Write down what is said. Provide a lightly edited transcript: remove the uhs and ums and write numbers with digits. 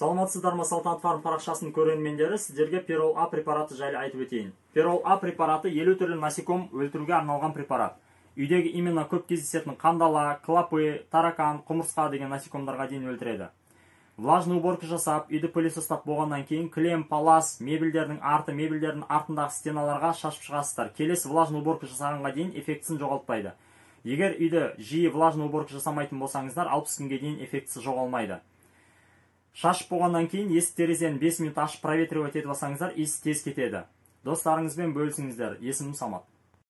Саламатсыздар ма, Салтанат Фарм парақшасының көрермендері, сіздерге Перол А препараты жайлы айтып өтейін. Перол А препараты 50 түрлі насеком өлтіруге арналған препарат. Үйдегі именно көп кездесетін қандала, клапы, таракан, құмырсқа деген насекомдарға дейін өлтіреді. Влажный уборка жасап, үйді пылесостап болғаннан кейін кілем, палас, мебельдердің артындағы стеналарға шашып шығасыздар. Келесі влажный уборка жасағанға дейін эффектісін жоғалтпайды. Егер үйді жиі влажный уборка жасамайтын болсаңыздар, 60 күнге дейін эффектісі жоғалмайды. Шашып болғаннан кейін есік терезені 5 минут ашып проветривать етіп алсаңыздар, иісі тез кетеді. Достарыңызбен бөлісіңіздер. Есімім Самат.